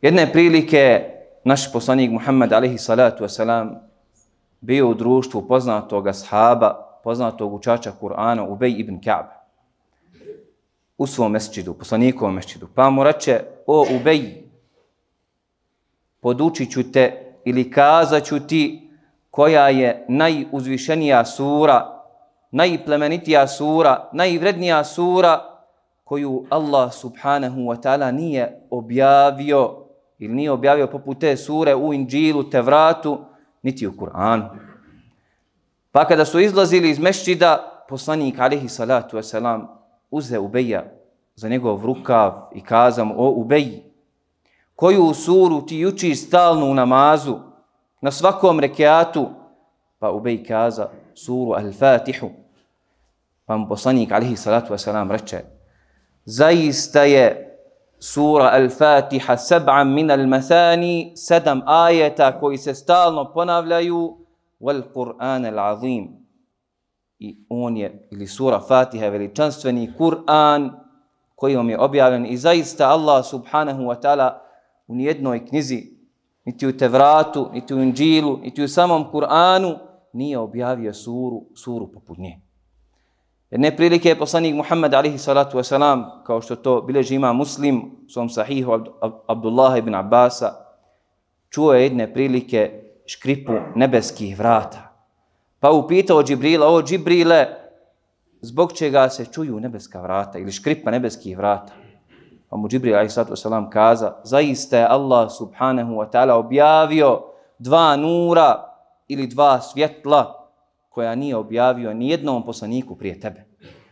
Jedne prilike naš poslanik Muhammed alejhi salatu wasalam bio u društvu poznatog ashaba, poznatog učača Kur'ana Ubej ibn Ka'b u svom mesdžidu, poslanikovom mesdžidu. Pa mu reče: o Ubej, podučit ću te ili kazat ću ti koja je najuzvišenija sura, najplemenitija sura, najvrednija sura koju Allah subhanahu wa ta'ala nije objavio ili nije objavio poput te sure u Inđilu, Tevratu, niti u Kur'anu. Pa kada su izlazili iz mesdžida, poslanik alejhi salatu wasalam uzeo Ubeja za njegov rukav i kazao mu: o Ubej, koju suru ti učiš stalno u namazu, na svakom rekiatu? Pa Ubej kaza: suru Al-Fatihu. Pa mu poslanik alejhi salatu wasalam reče: zaista je sura Al-Fatiha 7 min al-masani, 7 ajeta koji se stalno ponavljaju, wal Qur'an al-azim. I on je, ili sura Fatiha, veličanstveni Kur'an koji vam je objavljen. I zaista Allah subhanahu wa ta'ala u nijednoj knjizi, niti u Tevratu, niti u Inđilu, niti u samom Kur'anu nije objavio suru poput nje. Jedne prilike je poslanik Muhammed alejhi salatu wasalam, kao što to bilježi ima Muslim u svom sahihu Abdullah ibn Abbasa, čuo je jedne prilike škripu nebeskih vrata. Pa upitao Džibrila: o Džibrile, zbog čega se čuju nebeska vrata ili škripa nebeskih vrata? Pa mu Džibril alejhi salatu wasalam kaza: zaista je Allah subhanahu wa ta'ala objavio 2 nura ili 2 svjetla koja nije objavio ni jednom poslaniku prije tebe.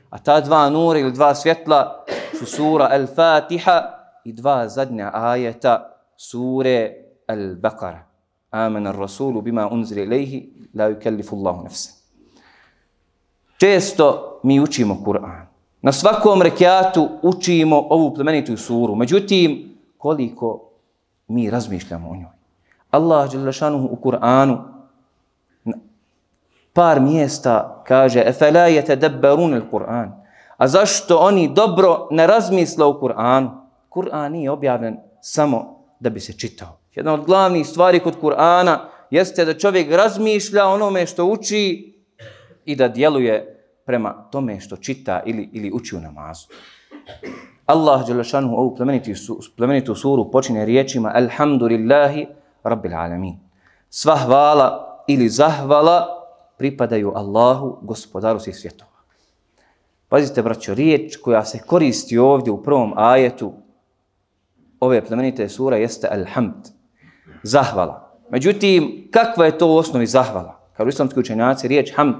A ta 2 nura ili 2 svjetla su sura Al-Fatiha i 2 zadnja ajeta sure Al-Baqara. Amana ar-rasulu bima unzila ilayhi la yukallifu Allahu nafsan. Često mi učimo Kur'an. Na svakom rekiatu učimo ovu plemenitu suru. Međutim, koliko mi razmišljamo o njoj. Allah dželle šanuhu u Kur'anu par mjesta kaže: efela yatadabbarun al-Qur'an. A zašto oni dobro ne razmisle o Kur'anu? Kur'an nije objavljen samo da bi se čitao. Jedna od glavnih stvari kod Kur'ana jeste da čovjek razmišlja onome što uči i da djeluje prema tome što čita ili uči u namazu. Allah dželle šanuhu ovu plemenitu suru počinje riječima: alhamdulillahi rabbil alamin. Sva hvala ili zahvala pripadaju Allahu, gospodaru svih svjetova. Pazite, braćo, riječ koja se koristi ovdje u prvom ajetu ove plemenite sure jeste alhamd, zahvala. Međutim, kakva je to u osnovi zahvala? Kao islamski učenjaci, riječ hamd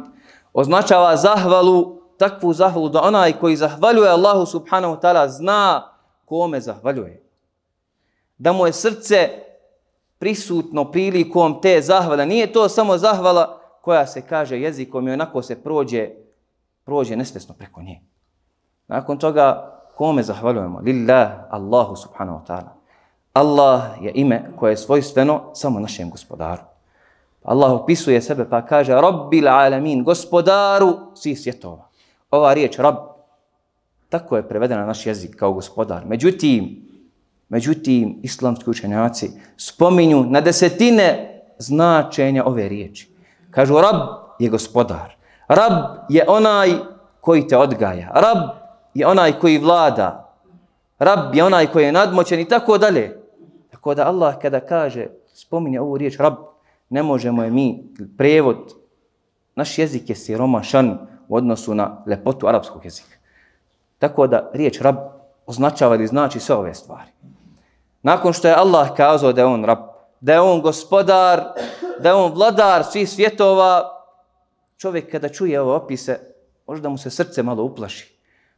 označava zahvalu, takvu zahvalu da onaj koji zahvaljuje Allahu subhanahu wa ta'ala zna kome zahvaljuje. Da mu je srce prisutno prilikom te zahvale. Nije to samo zahvala koja se kaže jezikom i onako se prođe nesvjesno preko nje. Nakon toga, kome zahvaljujemo? Lillah, Allahu subhanahu wa ta'ala. Allah je ime koje je svojstveno samo našem gospodaru. Allah opisuje sebe pa kaže: Rabbil alamin, gospodaru svih svjetova. Ova riječ Rab, tako je prevedena na naš jezik kao gospodar. Međutim, islamski učenjaci spominju na desetine značenja ove riječi. Kažu: Rab je gospodar. Rab je onaj koji te odgaja. Rab je onaj koji vlada. Rab je onaj koji je nadmoćan i tako dalje. Tako da Allah kada kaže, spominje ovu riječ Rab, ne možemo je mi prevod. Naš jezik je siromašan u odnosu na lepotu arapskog jezika. Tako da riječ Rab označava ili znači sve ove stvari. Nakon što je Allah kazao da je on Rab, da je on gospodar, da je on vladar svih svjetova, čovjek kada čuje ove opise, možda mu se srce malo uplaši.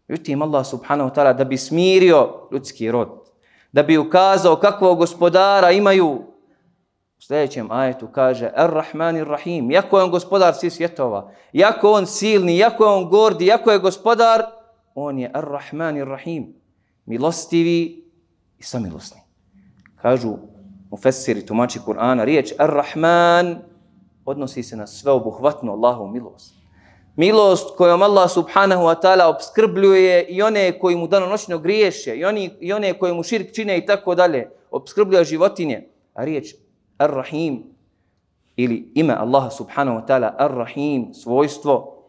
Međutim, Allah subhanahu wa ta'ala da bi smirio ljudski rod, da bi ukazao kakvog gospodara imaju, u sljedećem ajetu kaže: Ar-Rahman Ar-Rahim, jako je on gospodar svih svjetova, jako on silni, jako je on gordi, jako je gospodar, on je Ar-Rahman Ar-Rahim, milostivi i samilosni. Kažu mufessiri, tumači Kur'ana, riječ Ar-Rahman odnosi se na sveobuhvatnu Allahovu milost. Milost kojom Allah subhanahu wa ta'ala obskrbljuje i one koji mu danonoćno griješe, i one koji mu širk čine i tako dalje. Obskrbljuje životinje. A riječ Ar-Rahim ili ime Allaha subhanahu wa ta'ala Ar-Rahim, svojstvo,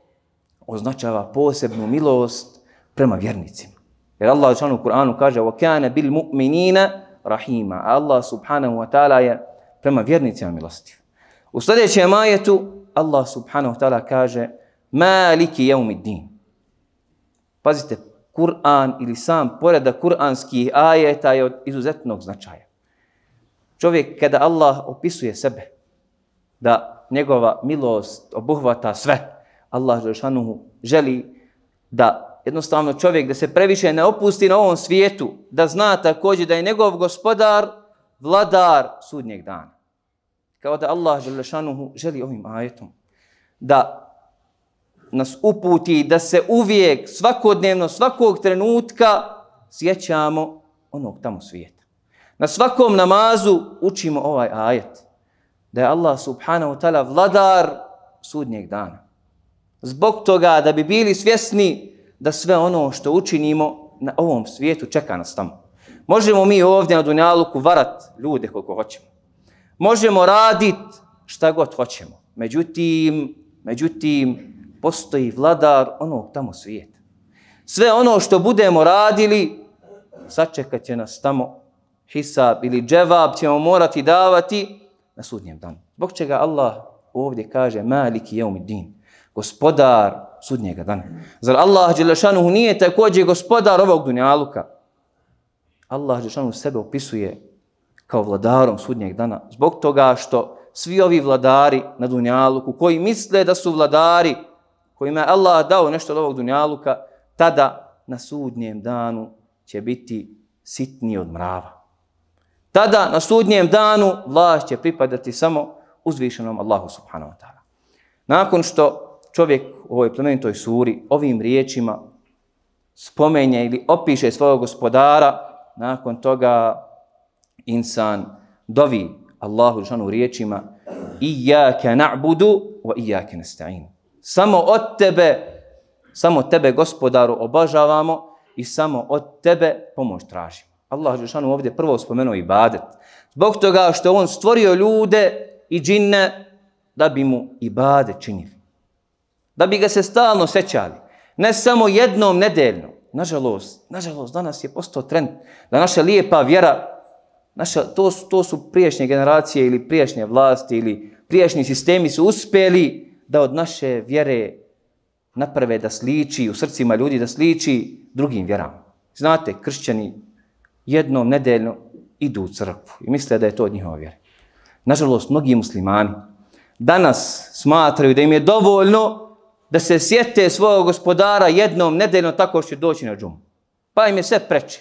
označava posebnu milost prema vjernicima. Jer Allah u Kur'anu kaže وَكَانَ بِالْمُؤْمِنِينَ رَحِيمًا. A Allah subhanahu wa ta'ala je prema vjernicima milostiv. U sljedećem ajetu Allah subhanahu wa ta'ala kaže Maliki jeumiddin. Pazite, Kur'an ili sam poredak kuranskih ajeta je od izuzetnog značaja. Čovjek kada Allah opisuje sebe, da njegova milost obuhvata sve, Allah dželešanuhu želi da jednostavno čovjek da se previše ne opusti na ovom svijetu, da zna također da je njegov gospodar vladar sudnjeg dana. Kao da Allah dželešanuhu želi ovim ajetom da nas uputi da se uvijek, svakodnevno, svakog trenutka sjećamo onog tamo svijeta. Na svakom namazu učimo ovaj ajet. Da je Allah subhanahu wa ta'ala vladar sudnjeg dana. Zbog toga da bi bili svjesni da sve ono što učinimo na ovom svijetu čeka nas tamo. Možemo mi ovdje na dunjaluku varat ljude koliko hoćemo. Možemo raditi šta god hoćemo. Međutim, postoji vladar onog tamo svijeta. Sve ono što budemo radili, sačekat će nas tamo hisab ili dževab ćemo morati davati na sudnjem danu. Zbog čega Allah ovdje kaže Maliki jeumiddin, gospodar sudnjega dana. Zar Allah dželešanuhu nije također gospodar ovog dunjaluka? Allah dželešanuhu sebe opisuje kao vladarom sudnjeg dana. Zbog toga što svi ovi vladari na dunjaluku koji misle da su vladari, kojima je Allah dao nešto od ovog dunjaluka, tada na sudnjem danu će biti sitniji od mrava. Tada na sudnjem danu vlast će pripadati samo uzvišenom Allahu subhanahu wa ta'ala. Nakon što čovjek u ovoj plemenitoj suri ovim riječima spomenje ili opiše svojeg gospodara, nakon toga insan dovi Allahu džanu riječima Iyaka na'budu wa iyaka nasta'in. Samo tebe gospodaru obožavamo i samo od tebe pomoć tražimo. Allah džanu ovdje prvo spomenuo ibadet. Zbog toga što on stvorio ljude i džinne da bi mu ibadet činili. Da bi ga se stalno sećali. Ne samo jednom nedeljno. Nažalost, danas je postao trend da naša lijepa vjera, to su prijašnje generacije ili prijašnje vlasti ili prijašnji sistemi su uspjeli da od naše vjere naprave da sliči, u srcima ljudi da sliči drugim vjerama. Znate, kršćani jednom nedeljno idu u crkvu i misle da je to od njihova vjera. Nažalost, mnogi muslimani danas smatraju da im je dovoljno da se sjete svojeg gospodara jednom nedeljno tako što će doći na džumu. Pa im je sve preče.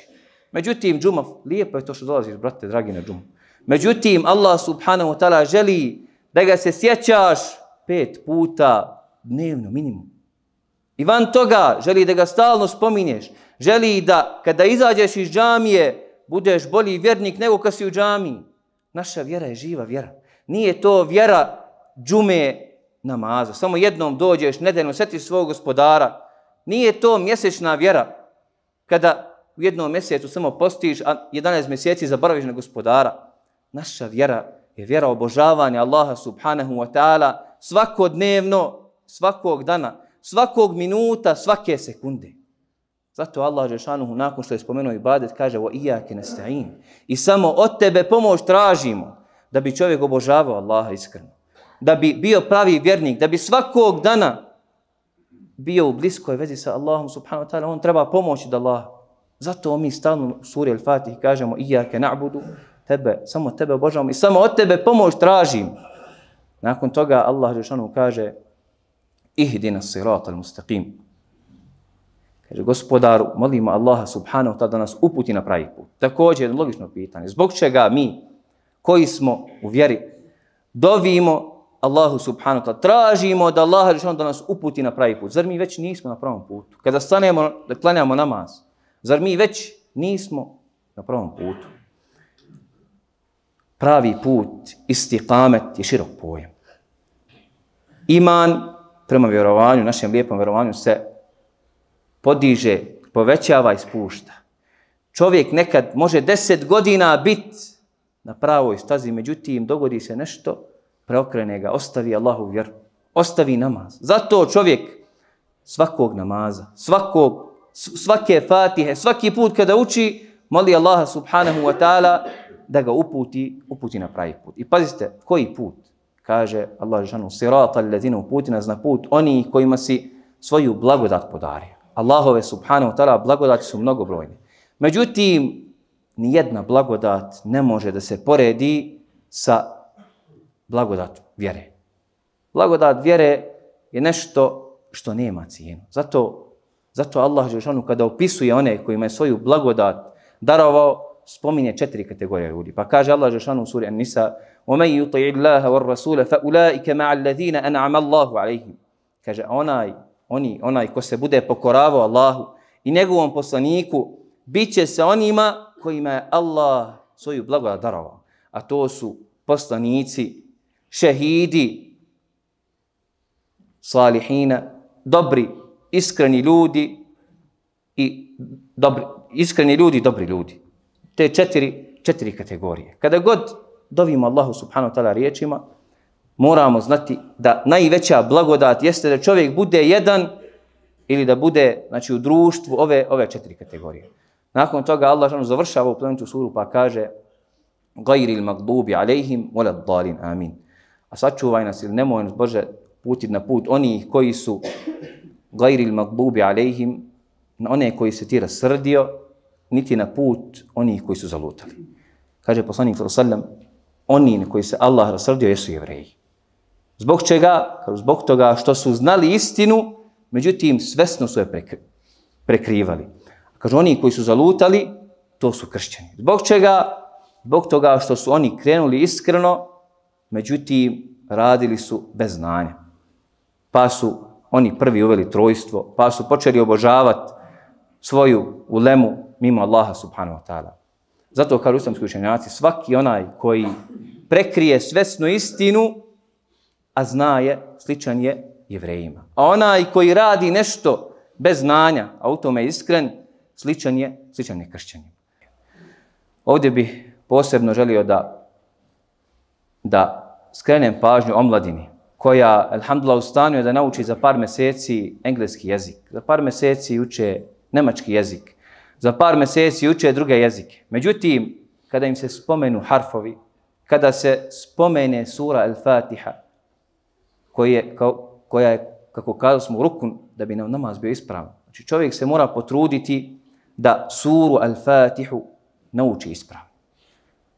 Međutim, džuma, lijepo je to što dolaziš, brate, dragi, na džumu. Međutim, Allah subhanahu wa ta'ala želi da ga se sjećaš 5 puta dnevno minimum. I van toga želi da ga stalno spominješ. Želi da kada izađeš iz džamije budeš bolji vjernik nego kad si u džamiji. Naša vjera je živa vjera. Nije to vjera džume namaza. Samo jednom dođeš, nedeljno sjetiš svog gospodara. Nije to mjesečna vjera. Kada u jednom mjesecu samo postiš, a 11 mjeseci zaboraviš na gospodara. Naša vjera je vjera obožavanja Allaha subhanahu wa ta'ala svakodnevno, svakog dana, svakog minuta, svake sekunde. Zato Allah dželešanuhu nakon što je spomenuo ibadet kaže wa iyaka nasta'in. I samo od tebe pomoć tražimo da bi čovjek obožavao Allaha iskreno. Da bi bio pravi vjernik, da bi svakog dana bio u bliskoj vezi sa Allahom subhanahu wa ta'ala, on treba pomoć od Allaha. Zato mi stalno u suri Al-Fatih kažemo Iyaka na'budu, samo tebe obožavamo i samo od tebe pomoć tražimo. Nakon toga Allah dželešanuhu kaže Ihdina sirata al-mustaqim. Kaže, gospodaru, molimo Allaha subhanahu wa ta'ala da nas uputi na pravi put. Također jedno logično pitanje. Zbog čega mi, koji smo u vjeri, dovimo Allahu subhanahu wa ta'ala, tražimo da Allah da nas uputi na pravi put. Zar mi već nismo na pravom putu? Kada stanemo da klanjamo namaz, zar mi već nismo na pravom putu? Pravi put, istiqamet je širok pojam. Iman prema vjerovanju, našem lijepom vjerovanju se podiže, povećava i spušta. Čovjek nekad može 10 godina biti na pravoj stazi, međutim dogodi se nešto, preokrene ga, ostavi Allahu vjeru, ostavi namaz. Zato čovjek svakog namaza, svake fatihe, svaki put kada uči, moli Allaha subhanahu wa ta'ala da ga uputi na pravi put. I pazite, koji put? Kaže Allah dželešanu, sirata allazina, uputi nas na put oni kojima si svoju blagodat podario. Allahove subhanahu wa ta'ala blagodati su mnogobrojne. Međutim, nijedna blagodat ne može da se poredi sa blagodatom vjere. Blagodat vjere je nešto što nema cijenu. Zato Allah dželešanu kada opisuje one kojima je svoju blagodat darovao, spominje 4 kategorije ljudi. Pa kaže Allah dželešanu u suri An-Nisa: وَمَنْ يُطِعِ اللَّهَ وَالرَّسُولَ فَأُولَٰئِكَ مَعَ الَّذِينَ أَنْعَمَ اللَّهُ عَلَيْهِمْ. Kaže onaj ko se bude pokoravao Allahu i njegovom poslaniku, bit će se onima kojima je Allah svoju blagodat darovao. A to su poslanici, šehidi, salihina, dobri, iskreni ljudi i dobri ljudi. Te četiri kategorije. Kada god dovimo Allahu subhanahu wa ta'ala riječima, moramo znati da najveća blagodat jeste da čovjek bude jedan ili da bude, znači, u društvu ove 4 kategorije. Nakon toga Allah završava ovu plemenitu suru pa kaže: Gajril magdubi alejhim walad dalin, amin. A sačuvaj nas ili nemoj nas Bože putiti na put onih koji su gajril magdubi alejhim, na one koji se ti rasrdio, niti na put onih koji su zalutali. Kaže poslanik sallallahu alejhi ve sellem, oni na koji se Allah rasrdio jesu Jevreji. Zbog čega? Zbog toga što su znali istinu, međutim svesno su je prekrivali. Kaže, oni koji su zalutali, to su kršćani. Zbog čega? Zbog toga što su oni krenuli iskreno, međutim radili su bez znanja. Pa su oni prvi uveli trojstvo, pa su počeli obožavati svoju ulemu mimo Allaha subhanahu wa ta'ala. Zato kažu islamski učenjaci, svaki onaj koji prekrije svesnu istinu, a zna je, sličan je Jevrejima. A onaj koji radi nešto bez znanja, a u tome je iskren, sličan je kršćanima. Ovdje bih posebno želio da skrenem pažnju omladini, koja, alhamdulillah, u stanju je da nauči za par mjeseci engleski jezik, za par mjeseci uče nemački jezik, za par mjeseci uče druge jezike. Međutim, kada im se spomenu harfovi, kada se spomene sura Al-Fatiha, koja je, kako kazali smo, rukun da bi nam namaz bio ispravan. Znači, čovjek se mora potruditi da suru Al-Fatihu nauči ispravno.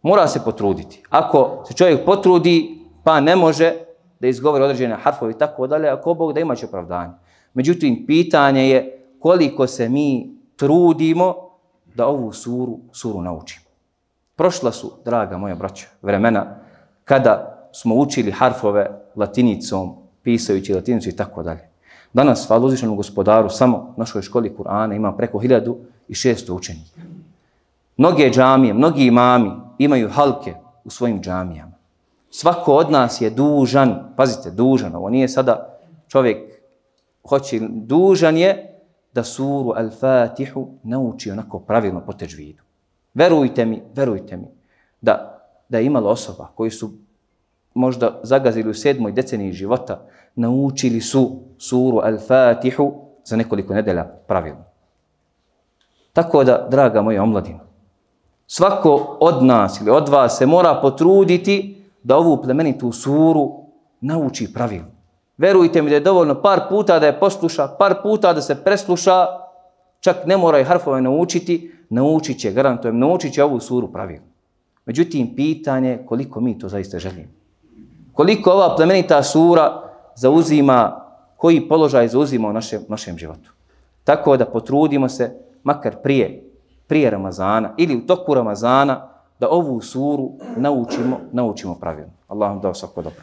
Mora se potruditi. Ako se čovjek potrudi, pa ne može da izgovori određene harfove i tako dalje, ako Bog da imaće opravdanje. Međutim, pitanje je koliko se mi trudimo da ovu suru naučimo. Prošla su, draga moja braćo, vremena kada smo učili harfove latinicom, pisajući latinicu i tako dalje. Danas, hvala uzvišenom Gospodaru, samo u našoj školi Kur'ana ima preko 1600 učenika. Mnoge džamije, mnogi imami imaju halke u svojim džamijama. Svako od nas je dužan, pazite, dužan, ovo nije sada čovjek hoće, dužan je da suru Al-Fatihu nauči onako pravilno po teđvidu. Verujte mi da je imalo osoba koji su možda zagazili u 7. deceniji života, naučili su suru Al-Fatihu za nekoliko nedelja pravilno. Tako da, draga moja omladina, svako od nas ili od vas se mora potruditi da ovu plemenitu suru nauči pravilno. Verujte mi da je dovoljno par puta da je posluša, par puta da se presluša, čak ne mora i harfove naučiti, naučit će, garantujem, naučit će ovu suru pravilno. Međutim, pitanje je koliko mi to zaista želimo. Koliko ova plemenita sura zauzima, koji položaj zauzima u našem životu. Tako da potrudimo se, makar prije Ramazana ili u toku Ramazana, da ovu suru naučimo pravilno. Allah vam dao svako dobro.